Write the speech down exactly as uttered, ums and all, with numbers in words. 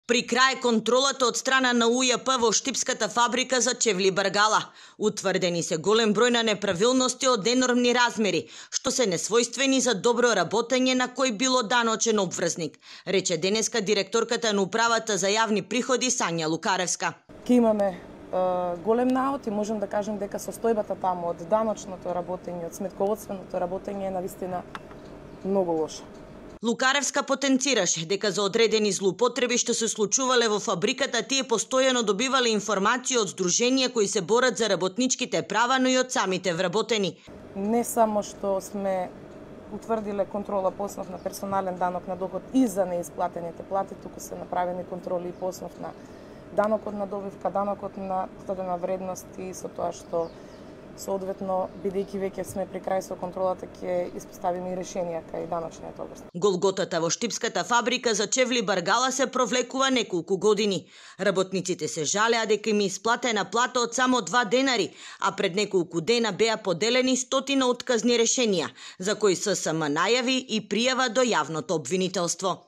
При крај контролата од страна на У Ј П во Штипската фабрика за чевли Баргала. Утврдени се голем број на неправилности од енормни размери, што се несвојствени за добро работење на кој било даночен обврзник, рече денеска директорката на управата за јавни приходи Сања Лукаревска. Ке имаме е, голем наод и можем да кажем дека состојбата таму од даночното работење, од сметководственото работење е навистина многу лоша. Лукаревска потенцираше дека за одредени злоупотреби што се случувале во фабриката, тие постојано добивале информации од здруженија кои се борат за работничките права, но и од самите вработени. Не само што сме утврдиле контрола по основ на персонален данок на доход и за неисплатените плати, туку се направени контроли и по основ на данокот на добивка, данокот на додадена вредност и со тоа што соодветно, бидејќи веќе сме при крај со контролата, ќе испоставиме и решенија кај даночниот област. Голготата во Штипската фабрика за чевли Баргала се провлекува неколку години. Работниците се жалеа дека им исплатена плата од само два денари, а пред неколку дена беа поделени стотина отказни решенија, за кои С С М најави и пријава до јавното обвинителство.